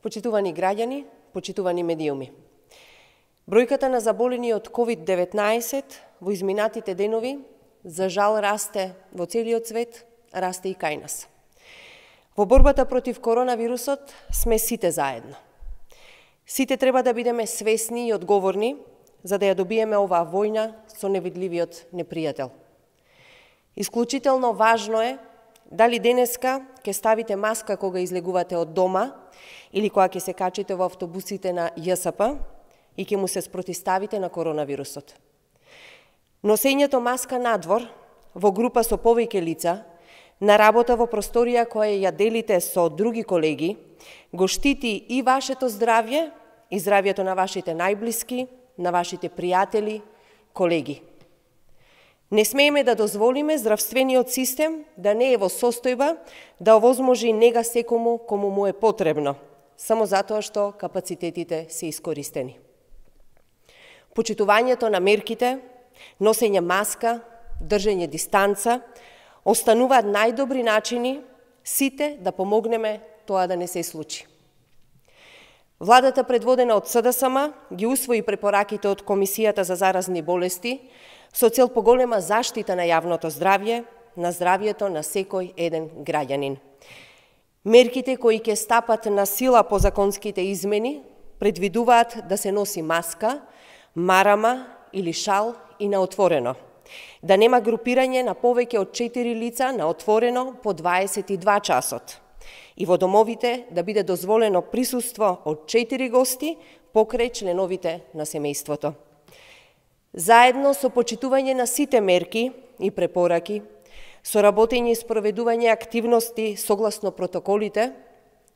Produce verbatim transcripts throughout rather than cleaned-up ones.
Почитувани граѓани, почитувани медиуми. Бројката на заболени од ковид деветнаесет во изминатите денови за жал расте во целиот свет, расте и кај нас. Во борбата против коронавирусот сме сите заедно. Сите треба да бидеме свесни и одговорни за да ја добиеме оваа војна со невидливиот непријател. Исклучително важно е дали денеска ќе ставите маска кога излегувате од дома или кога ќе се качите во автобусите на Ја С П и ќе му се спротиставите на коронавирусот. Носењето маска надвор, во група со повеќе лица, на работа во просторија која ја делите со други колеги, го штити и вашето здравје, и здравјето на вашите најблиски, на вашите пријатели, колеги. Не смееме да дозволиме здравствениот систем да не е во состојба да овозможи нега секому кому му е потребно, само затоа што капацитетите се искористени. Почитувањето на мерките, носење маска, држење дистанца, остануваат најдобри начини сите да помогнеме тоа да не се случи. Владата предводена од С Д С М ги усвои препораките од Комисијата за заразни болести со цел поголема заштита на јавното здравје, на здравјето на секој еден граѓанин. Мерките кои ќе стапат на сила по законските измени предвидуваат да се носи маска, марама или шал и на отворено, да нема групирање на повеќе од четири лица на отворено по дваесет и два часот и во домовите да биде дозволено присуство од четири гости покрај членовите на семејството. Заедно со почитување на сите мерки и препораки, со работење и спроведување активности согласно протоколите,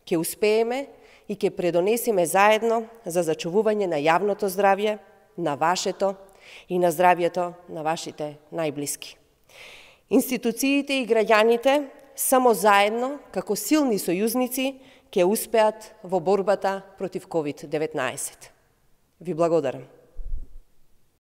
ќе успееме и ќе предонесеме заедно за зачувување на јавното здравје, на вашето и на здравјето на вашите најблиски. Институциите и граѓаните само заедно, како силни сојузници, ќе успеат во борбата против ковид деветнаесет. Ви благодарам.